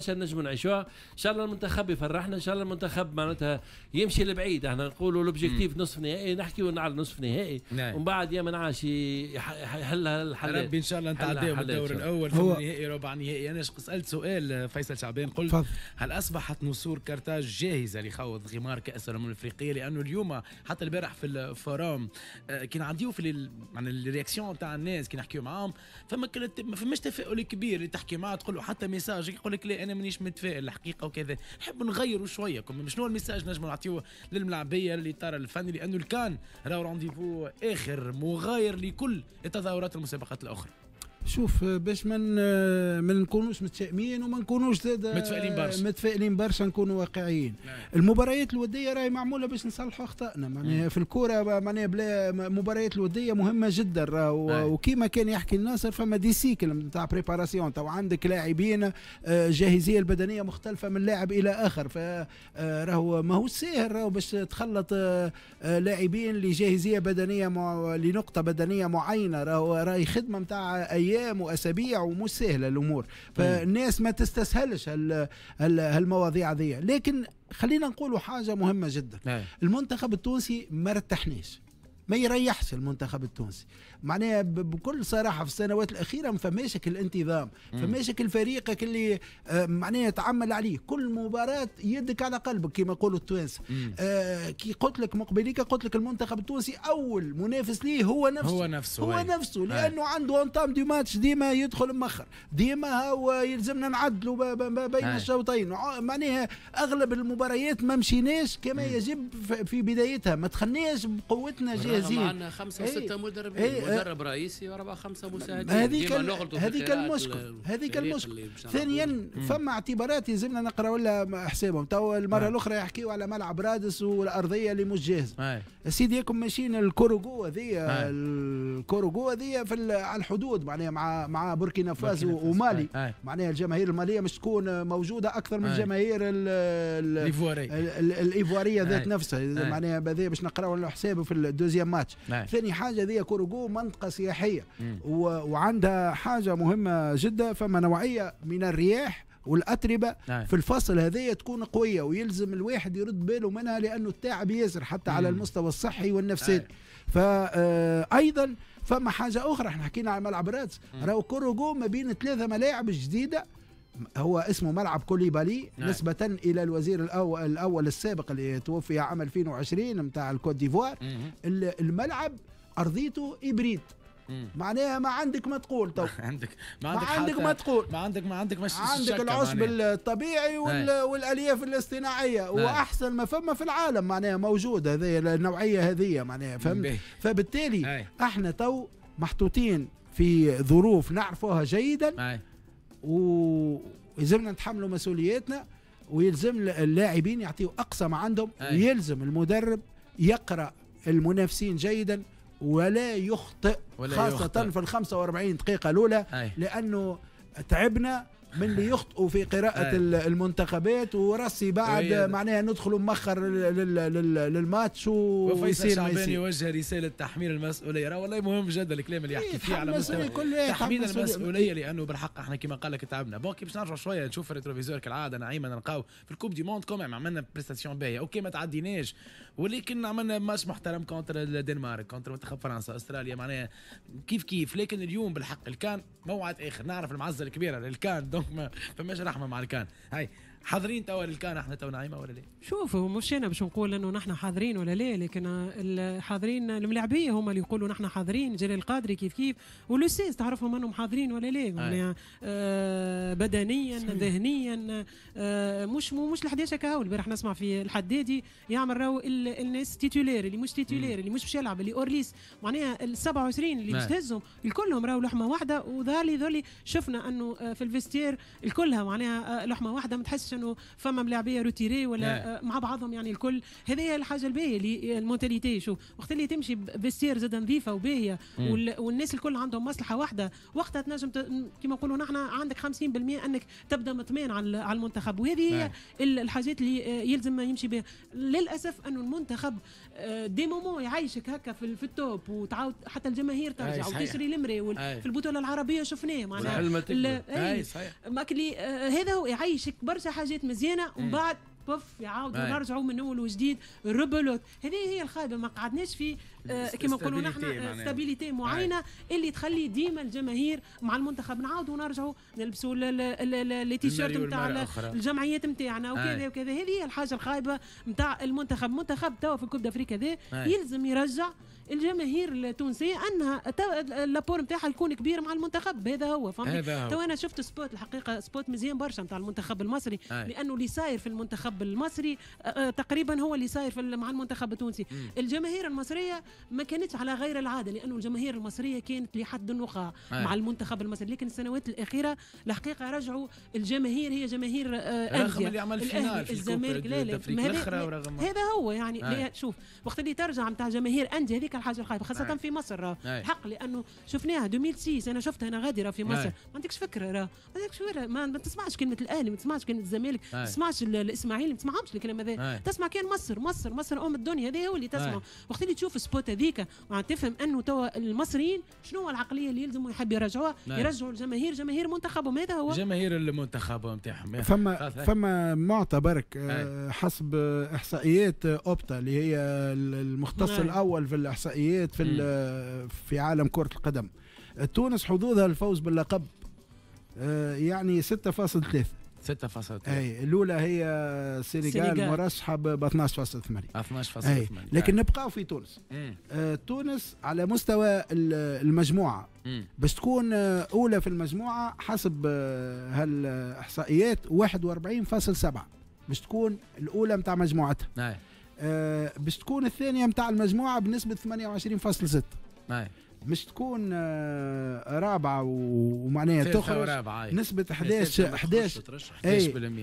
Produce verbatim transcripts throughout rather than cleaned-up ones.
برشا نجموا نعيشوها. ان شاء الله المنتخب يفرحنا، ان شاء الله المنتخب معناتها يمشي لبعيد. احنا نقولوا l'objectif نصف نهائي، نحكيو على نصف نهائي نعم. ومن بعد يا من عاش يحلها الحلات. ربي ان شاء الله نتعداو من الدور الاول في النهائي، ربع نهائي. انا سالت سؤال فيصل شعبان، قلت فضل. هل اصبحت نسور كارتاج جاهزة لخوض غمار كاس الامم الافريقيه؟ لانه اليوم حتى البارح في ال forum كي نعديو في يعني les réactions تاع الناس كي نحكيو معاهم، فما كانت ما فماش تفاؤل كبير. اللي تحكي معاه تقول له حتى message يقول لك لا انا مانيش متفائل الحقيقة وكذا. نحب نغيروا شوية، شنو ال message نجموا نعطيوه للملاعبيه للاطار الفني؟ لانه الكان راهو rendez-vous اخر مغاير لكل التظاهرات المسابقات الاخرى. شوف، باش من ما نكونوش متشائمين وما نكونوش زاد متفائلين برشا، متفائلين برشا، نكونوا واقعيين. نعم. المباريات الودية راهي معمولة باش نصلحوا اخطائنا معناها في الكورة، معناها بلا مباريات الودية مهمة جدا. نعم. وكيما كان يحكي الناصر، فما des cycles نتاع préparation، تو عندك لاعبين جاهزية البدنية مختلفة من لاعب الى اخر، فراهو ماهوش ساهل راهو باش تخلط لاعبين لجاهزيه بدنية مع... لنقطة بدنية معينه. راهو راهي خدمة نتاع ايام واسابيع ومش سهلة الامور، فالناس ما تستسهلش هالمواضيع هذه. لكن خلينا نقولوا حاجة مهمة جدا. نعم. المنتخب التونسي ما رتحناش، ما يريحش المنتخب التونسي معناها بكل صراحة. في السنوات الاخيرة ما فماش الانتظام، فماش الفريق اللي معناها تعمل عليه كل مباراة يدك على قلبك كما يقولوا التوانسة. آه كي قلت لك مقبليك، قلت لك المنتخب التونسي اول منافس ليه هو نفسه، هو نفسه، هو نفسه، لانه عنده entame de match ديما يدخل مخر، ديما هو يلزمنا نعدلوا بين الشوطين. معناها اغلب المباريات ما مشيناش كما يجب في بدايتها، ما دخلناش بقوتنا جاهزين. عندنا خمسة وستة ايه مدربين، ايه مدرب رئيسي واربعة خمسة مساعدين. هذيك هذيك المشكل، هذيك المشكل. ثانيا فما اعتبارات يلزمنا نقراو لها حسابهم. تو المرة الاخرى يحكيوا على ملعب رادس والارضيه اللي مش جاهزة. سيدي ياكم ماشيين الكوروغو هذه، الكوروغو هذه في على الحدود معناها مع مع بوركينا فاسو ومالي، معناها الجماهير المالية مش تكون موجودة اكثر من الجماهير الايفواريه ذات نفسها، معناها هذا باش نقراو له حسابه في ال deuxième match. ثاني حاجة ذي كوروغو منطقة سياحية و... وعندها حاجة مهمة جدا، فما نوعية من الرياح والاتربه نعم. في الفصل هذه تكون قوية، ويلزم الواحد يرد باله منها لانه التعب ياسر حتى مم. على المستوى الصحي والنفسي. فايضا فما حاجة اخرى، احنا حكينا على ملعب رادس، راهو كوروغو ما بين ثلاثة ملاعب جديدة، هو اسمه ملعب كوليبالي نعم. نسبة إلى الوزير الأول, الأول السابق اللي توفي عام ألفين وعشرين نتاع الكوت ديفوار. الملعب أرضيته hybride، معناها ما عندك ما تقول تو عندك ما عندك, ما عندك ما تقول، ما عندك ما عندك مش عندك العشب الطبيعي وال... والالياف الاصطناعيه، واحسن ما فما في العالم معناها موجود هذه النوعية هذه معناها، فهمت؟ فبالتالي هاي. احنا تو محطوطين في ظروف نعرفوها جيدا، ويلزمنا نتحملوا مسؤولياتنا، ويلزم اللاعبين يعطيوا اقصى ما عندهم، ويلزم المدرب يقرا المنافسين جيدا ولا يخطئ، ولا خاصة يخطئ. في ال خمسة وأربعين دقيقة الأولى، أي. لأنه تعبنا من اللي يخطئوا في قراءة المنتخبات وراسي بعد معناها ندخلوا مخر للماتش ويصير شعبان يوجه رسالة تحميل المسؤولية. راه والله مهم جدا الكلام اللي يحكي فيه على مستوى تحميل المسؤولية، لأنه بالحق احنا كما قال لك تعبنا. bon كي باش نرجعوا شوية نشوف ال rétroviseur كالعادة نعيمة، نلقاو في ال coupe du monde quand même عملنا prestation باهية، OK ما تعديناش ولكن عملنا ماتش محترم contre الدنمارك، contre منتخب فرنسا، استراليا، معناها كيف كيف. لكن اليوم بالحق الكان موعد اخر، نعرف المعزة الكبيرة للكان، donc ما فماش رحمه مع الكان. هاي حاضرين توا للكان احنا تو نعيمه ولا لا؟ شوف، هو مش انا باش نقول انه نحن حاضرين ولا لا، لكن الحاضرين الملاعبيه هما اللي يقولوا نحن حاضرين. جلال القادري كيف كيف، ولوسيس تعرفهم انهم حاضرين ولا لا، يعني آه بدنيا ذهنيا، آه مش مش ال كهو. البارح نسمع في الحدادي يعمل راهو الناس titulaires اللي مش titulaires، اللي مش باش يلعب، اللي hors liste، معناها ال سبعة وعشرين اللي باش تهزهم الكلهم راهو لحمه واحدة. وظهر لي ذولي شفنا انه في ال vestiaire الكلها معناها لحمه واحدة، ما تحسش انه فما ملاعبيه retirés ولا مع بعضهم، يعني الكل. هذه هي الحاجة الباهيه اللي ال mentalité، شوف وقت اللي تمشي vestiaire زاد نظيفة وباهيه والناس الكل عندهم مصلحة واحدة، وقتها تنجم كما نقولوا نحن عندك خمسين بالمئة انك تبدا مطمئن على على المنتخب. وهذه هي الحاجات اللي يلزم يمشي بها. للاسف انه المنتخب des moments يعيشك هكا في, في ال top، وتعاود حتى الجماهير ترجع وتشري المري. في البطولة العربية شفناه معناها. ماكلي آه هذا هو يعيشك برشا حاجات مزيانه ومن بعد بف يعاودوا نرجعوا من اول وجديد rebelote. هذه هي الخايبة، ما قعدناش في آه كما نقولوا نحن stabilité معينة اللي تخلي ديما الجماهير مع المنتخب. نعاودوا نرجعوا نلبسوا les t-shirts نتاع الجمعيات نتاعنا وكذا وكذا. هذه هي الحاجة الخايبة نتاع المنتخب. المنتخب توا في ال Coupe d'Afrique هذا يلزم يرجع الجماهير التونسية انها l'apport نتاعها يكون كبير مع المنتخب. هذا هو فهمت. تو انا شفت spot الحقيقة spot مزيان برشا نتاع المنتخب المصري، أي. لانه اللي صاير في المنتخب المصري تقريبا هو اللي صاير في مع المنتخب التونسي. مم. الجماهير المصرية ما كانتش على غير العادة، لانه الجماهير المصرية كانت لحد النخاع مع المنتخب المصري، لكن السنوات الاخيرة الحقيقة رجعوا الجماهير هي جماهير رغم اللي عمل finale في الزمالك لا لا هذا هو يعني. شوف وقت اللي ترجع نتاع جماهير اندية هذيك الحاجة الخايبة خاصة أي. في مصر الحق، لانه شفناها ألفين وستة انا شفتها انا غادره في مصر. أي. ما عندكش فكرة راه ما عندكش فكرة، ما, ما تسمعش كلمة الاهلي، ما تسمعش كلمة الزمالك، ما تسمعش الاسماعيلي، ما تسمعهمش الكلام هذا. تسمع كان مصر مصر مصر ام الدنيا، هذا هو اللي تسمع. وقت اللي تشوف spot هذيك تفهم انه توا المصريين شنو هو العقلية اللي يلزموا يحب يرجعوها، يرجعوا الجماهير جماهير منتخبهم. هذا هو جماهير المنتخب نتاعهم. فما فما معطى برك حسب احصائيات اوبتا اللي هي المختص الاول في الاحصائيات في في عالم كرة القدم، تونس حظوظها الفوز باللقب يعني ستة فاصلة ثلاثة. ستة فاصلة ثلاثة. اي الاولى هي السنغال مرشحة ب اثناش فاصلة ثمانية. اثناش فاصلة ثمانية. لكن نبقاو في تونس. آه تونس على مستوى المجموعة باش تكون اولى في المجموعة حسب هالاحصائيات واحد وأربعين فاصلة سبعة باش تكون الاولى نتاع مجموعتها. آه باش تكون الثانية نتاع المجموعة بنسبة ثمانية وعشرين فاصلة ستة. مش تكون رابعه ومعناها تخرج نسبه احداش احداش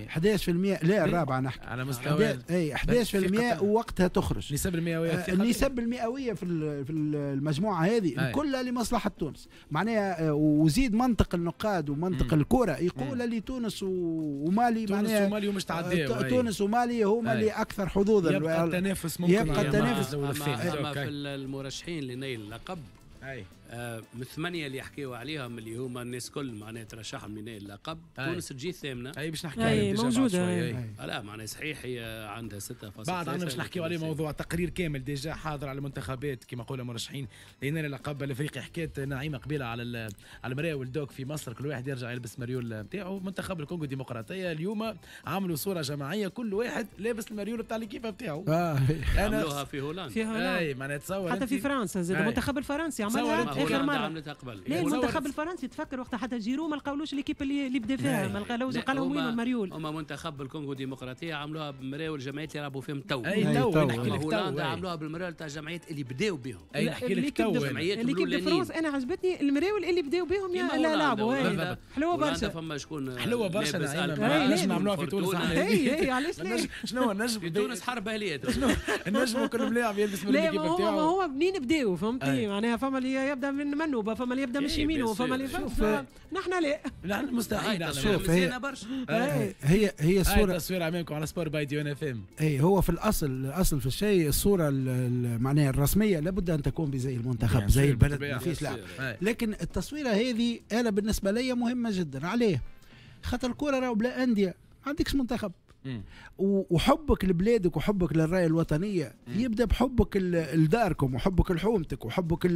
احداش بالمية. لا الرابعة نحكي على مستوى اي احداش بالمية ووقتها تخرج. النسب المئويه النسب المئويه في في المجموعة هذه كلها لمصلحة تونس معناها. وزيد منطق النقاد ومنطق الكره يقول اللي تونس ومالي تونس معناها ومالي ومش تعداو. تونس ومالي هما اللي اكثر حظوظا. يبقى التنافس ممكن يبقى التنافس. اما في المرشحين لنيل اللقب أي. آه من ثمانية اللي يحكيوا عليهم اللي هما الناس كل معناها ترشحهم لنيل اللقب، تونس تجي الثامنة. اي باش نحكي عليهم موجودة. لا معناها صحيح هي عندها ستة فاصلة بعد عندنا باش نحكيو عليه موضوع تقرير كامل déjà حاضر على المنتخبات كما قولوا مرشحين لنيل اللقب الافريقي. حكيت نعيمه قبيلة على على المراول دوك في مصر كل واحد يرجع يلبس مريول نتاعو. منتخب الكونغو الديمقراطية اليوم عملوا صوره جماعية كل واحد لابس المريول بتاع l'équipe نتاعو. آه. عملوها في هولندا. في هولندا اي معناها تصور حتى في فرنسا زاد المنتخب الفرنسي عملها اخر مرة. عملتها قبل. لا المنتخب الفرنسي تفكر وقتها حتى جيرو ما لقاولوش l'équipe اللي اللي بدا فيها، ما لقاولوش قالوا وين المريول. هما منتخب الكونغو الديمقراطية عملوها بمراول الجمعيات اللي يلعبوا فيهم تو. اي تو نحكي لك هولندا عملوها بالمراول تاع الجمعيات اللي بداوا بهم. اي نحكي لك تو l'équipe de France انا عجبتني المراول اللي بداوا بهم يا لعبوا حلوة برشا. فما شكون حلوة برشا نجم نعملوها في تونس. اي اي علاش لا؟ شنو النجم في تونس حرب اهليه. شنو النجم كل ملاعب يلبس من l'équipe نتاعو. ما هو منين بداوا فهمتني معناها فما اللي يبدا من منوبه، فما اللي يبدا من يمينه، فما اللي نحن لا نحن مستحيل. شوف هي هي هي الصورة التصوير امامكم على سبور باي دي ان اف ام. اي هو في الاصل الاصل في الشيء الصورة معناها الرسمية لابد ان تكون بزي المنتخب زي البلد ما فيش لعب. لكن التصويره هذه انا بالنسبة لي مهمة جدا. عليه خاطر الكره راهو بلا اندية ما عندكش منتخب. وحبك لبلادك وحبك للرايه الوطنية مم. يبدا بحبك لداركم وحبك لحومتك وحبك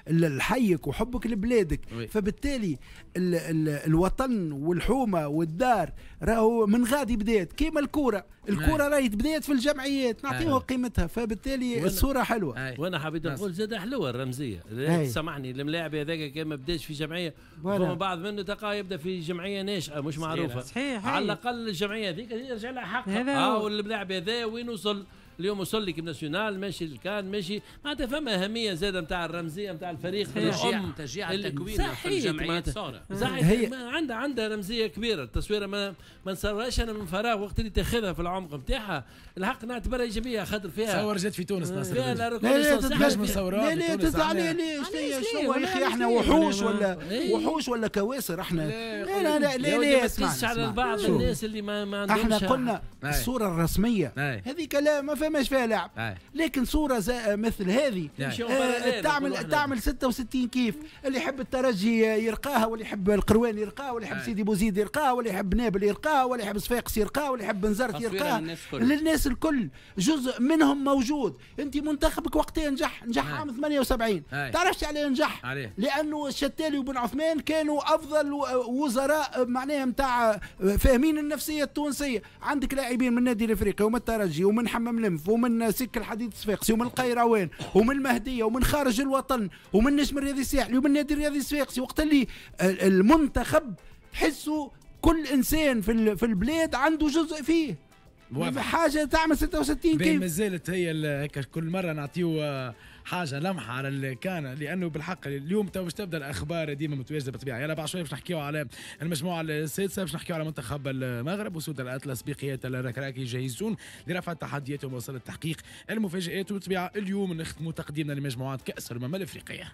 لحيك وحبك لبلادك. وي. فبالتالي ال ال الوطن والحومه والدار راهو من غادي بدات كيما الكورة. الكورة راهي بدات في الجمعيات نعطيوها قيمتها. فبالتالي الصورة حلوة. أي. وانا حبيت نقول زاد حلوة الرمزية. سامحني الملاعب هذاك كان ما بداش في جمعية فما بعض منه تلقاه يبدا في جمعية ناشئة مش معروفة. صحيح. على الاقل الجمعية هذيك يرجع لها حقها. اه واللاعب هذا وين وصل اليوم؟ وصل l'équipe nationale ماشي الكان ماشي معناتها فما اهمية زاده نتاع الرمزية نتاع الفريق. تشجيع تشجيع التكوين في الجمعيات صار صحيح عندها عندها رمزية كبيرة. التصويره ما ما نصورهاش انا من فراغ وقت اللي تاخذها في العمق نتاعها الحق نعتبرها ايجابية خاطر فيها صور جات في تونس ناصر. فيها لا لا لا تزعل ليش شنو يا اخي احنا وحوش ولا وحوش ولا كواسر احنا؟ لا لا لا لا على بعض الناس اللي ما ما عندهمش. احنا قلنا الصورة الرسمية هذيك لا ما فماش فيها لاعب. لكن صوره مثل هذه آه تعمل تعمل ستة وستين كيف. اللي يحب الترجي يرقاها، واللي يحب القروان يرقاها، واللي يحب سيدي بوزيد يرقاها، واللي يحب نابل يرقاها، واللي يحب صفاقس يرقاها، واللي يحب بنزرت يرقاها. للناس الكل جزء منهم موجود. انت منتخبك وقتها نجح، نجح عام ثمانية وسبعين، تعرفش عليه نجح؟ عليه. لانه الشتالي وبن عثمان كانوا افضل وزراء معناها نتاع فاهمين النفسية التونسية. عندك لاعبين من النادي الافريقي ومن الترجي ومن حمام لنف ومن سك الحديد الصفاقسي ومن القيروان ومن المهدية ومن خارج الوطن ومن نجم الرياضي الساحلي ومن النادي الرياضي الصفاقسي. وقت اللي المنتخب تحسوا كل انسان في في البلاد عنده جزء فيه. واضح. حاجة تعمل ستة وستين كيف. ما زالت هي هكا كل مرة نعطيو حاجة لمحه على الكان، لانه بالحق اليوم تو باش تبدا الاخبار ديما متواجدة بالطبيعة. يلا بعد شوية باش نحكيو على المجموعة السادسة، باش نحكيو على منتخب المغرب وسود الاطلس بقيادة الركراكي جاهزون لرفع التحديات ومواصله تحقيق المفاجات. وبالطبيعه اليوم نختموا تقديمنا لمجموعات كاس الامم الافريقية.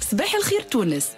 صباح الخير تونس.